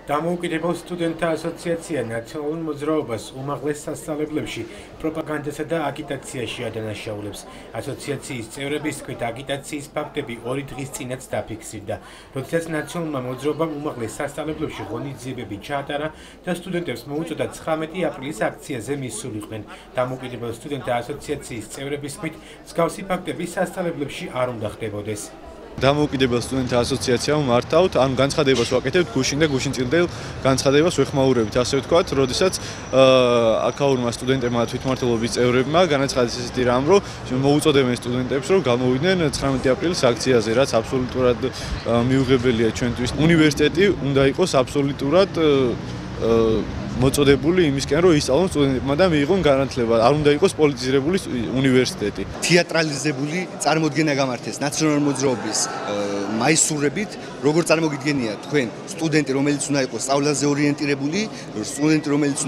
დამოუკიდებელ სტუდენტთა ასოციაცია ნაციონალურ მოძრაობას უმაღლეს სასწავლებლებში პროპაგანდასა და აგიტაციაში ადანაშაულებს. ასოციაციის წევრების თქმით, აგიტაციის ფაქტები 2 დღის წინაც დაფიქსირდა, როდესაც ნაციონალურმა მოძრაობამ უმაღლეს სასწავლებლებში ღონისძიებები ჩაატარა და სტუდენტებს მოუწოდა 19 აპრილის აქციაზე მისულიყვნენ. დამოუკიდებელ სტუდენტთა ასოციაციის წევრების თქმით, მსგავსი ფაქტები სასწავლებლებში არ უნდა ხდებოდეს. დამოუკიდებელ სტუდენტთა ასოციაციამ მართავთ, ანუ განცხადებას ვაკეთებთ გუშინ და გუშინწილდელ განცხადებას ვეხმაურებით, ასე ვთქვათ, როდესაც აქაურმა სტუდენტებმა თვითმმართველობის წევრებმა განაცხადეს ესეთი რამ, რომ მოუწოდებენ სტუდენტებს, რომ გამოვიდნენ 19 აპრილის აქციაზე, რაც აბსოლუტურად მიუღებელია ჩვენთვის. უნივერსიტეტი უნდა იყოს აბსოლუტურად მოწოდებული იმისკენ, რომ ისწავლონ სტუდენტებმა და მიიღონ განათლება. არ უნდა იყოს პოლიტიზირებული უნივერსიტეტი. თეატრალიზებული წარმოდგენა გამართეს ნაციონალურ მოძრაობის მაისურებით, როგორ წარმოგიდგენიათ თქვენ სტუდენტი, რომელიც უნდა იყოს სწავლაზე ორიენტირებული, სტუდენტი, რომელიც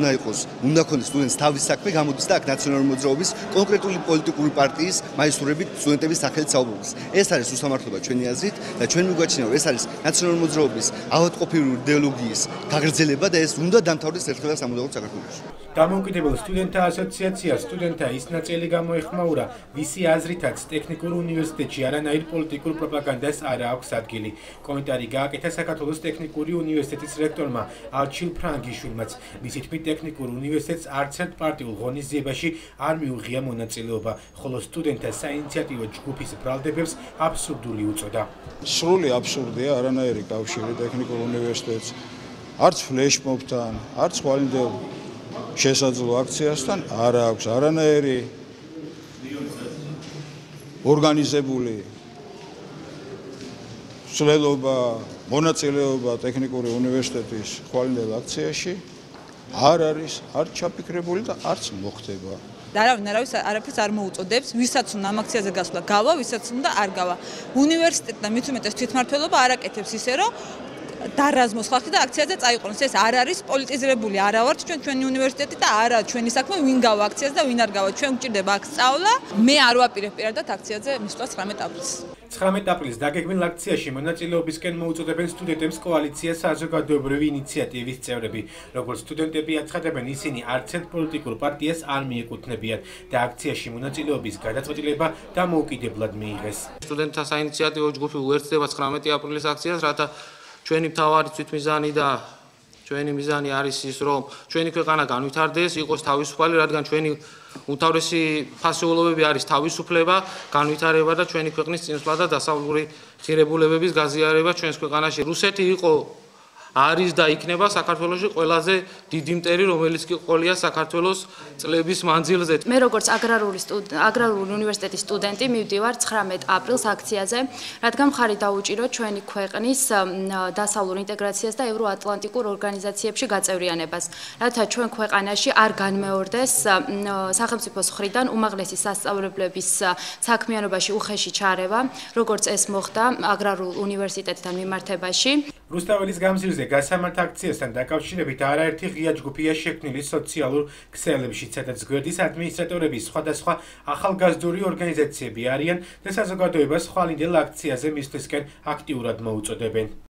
უნდა ქონდეს სტუდენტს თავის საქმე, გამოდის და აქ ნაციონალური მოძრაობის კონკრეტული პოლიტიკური პარტიის მაისურებით სტუდენტების სახელით საუბრობს. ეს არის უსამართლობა ჩვენი აზრით და ჩვენ მიგვაჩნია, რომ ეს არის ნაციონალური მოძრაობის ავადმყოფური იდეოლოგიის გაგრძელება და ეს უნდა დამთავრდეს ერთხელაც სამუდამოდ საქართველოში. დამოუკიდებელ სტუდენტთა ასოციაციას სტუდენტთა ის ნაწილი გამოეხმაურა, ვისი აზრითაც ტექნიკურ უნივერსიტეტში არანაირ პოლიტიკურ პროპაგანდას არ აქვს ადგილი. კომენტარი გააკეთა საქართველოს ტექნიკური უნივერსიტეტის რექტორმა ალჩილ ფრანგიშვილმაც. მისი თქმით, ტექნიკურ უნივერსიტეტს არც ერთ პარტიულ ღონისძიებაში არ მიუღია მონაწილეობა, ხოლო სტუდენტთა საინიციატივო ჯგუფის ბრალდებებს აბსურდული უწოდა. სრული აბსურდია, არანაირი კავშირი ტექნიკურ უნივერსიტეტს არც ფლეშმობთან, არც ხვალინდელ შესაძლო აქციასთან არ აქვს არანაირი ორგანიზებული ცვლილება, მონაწილეობა ტექნიკური უნივერსიტეტის ხვალინდელ აქციაში არ არის არც ჩაფიქრებული და არც მოხდება. არავის არაფერს არ მოუწოდებს, ვისაც უნდა ამ აქციაზე გასვლა გავა, ვისაც უნდა არ გავა. უნივერსიტეტი და მით უმეტეს თვითმმართველობა არ აკეთებს ისე, რომ დარაზმოს ხალხი და აქციაზე წაიყვანოს. ეს არ არის პოლიტიზირებული, არა ვართ ჩვენი უნივერსიტეტი და არა ჩვენი საქმე ვინ გავა აქციაზე და ვინ არ გავა. ჩვენ გვჭირდება აქ სწავლა. მე არ ვაპირებ პირადად აქციაზე მისვლა 19 აპრილს. 19 აპრილს დაგეგმილ აქციაში მონაწილეობისკენ მოუწოდებენ სტუდენტებს კოალიცია საზოგადოებრივი ინიციატივის წევრები. როგორც სტუდენტები აცხადებენ, ისინი არც ერთ პოლიტიკურ პარტიას არ მიეკუთვნებიან და აქციაში მონაწილეობის გადაწყვეტილება დამოუკიდებლად მიიღეს. სტუდენტთა საინიციატივო ჯგუფი უერთდება 19 აპრილის აქციას, რათა ჩვენი მთავარი თვითმიზანი და ჩვენი მიზანი არის ის, რომ ჩვენი ქვეყანა განვითარდეს, იყოს თავისუფალი, რადგან ჩვენი უმთავრესი ფასეულობები არის თავისუფლება, განვითარება და ჩვენი ქვეყნის წინსვლა და დასავლური ღირებულებების გაზიარება ჩვენს ქვეყანაში. რუსეთი არის და იქნება საქართველოში ყველაზე დიდი მტერი, რომელიც კი ყოლია საქართველოს წლების მანძილზე. მე როგორც აგრარული უნივერსიტეტის სტუდენტი მივდივარ 19 აპრილს აქციაზე, რადგან მხარი დაუჭიროთ ჩვენი ქვეყნის დასავლურ ინტეგრაციას და ევროატლანტიკურ ორგანიზაციებში გაწევრიანებას, რათა ჩვენ ქვეყანაში არ განმეორდეს სახელმწიფოს მხრიდან უმაღლესი სასწავლებლების საქმიანობაში უხეში ჩარევა, როგორც ეს მოხდა აგრარულ უნივერსიტეტთან მიმართებაში. რუსთაველის გამზირზე გასამართ აქციასთან დაკავშირებით არაერთი ღია ჯგუფია შექმნილი სოციალურ ქსელებში, სადაც გვერდის ადმინისტრატორები სხვადასხვა ახალგაზრდული ორგანიზაციები არიან და საზოგადოებას ხვალინდელ აქციაზე მისვლისკენ აქტიურად მოუწოდებენ.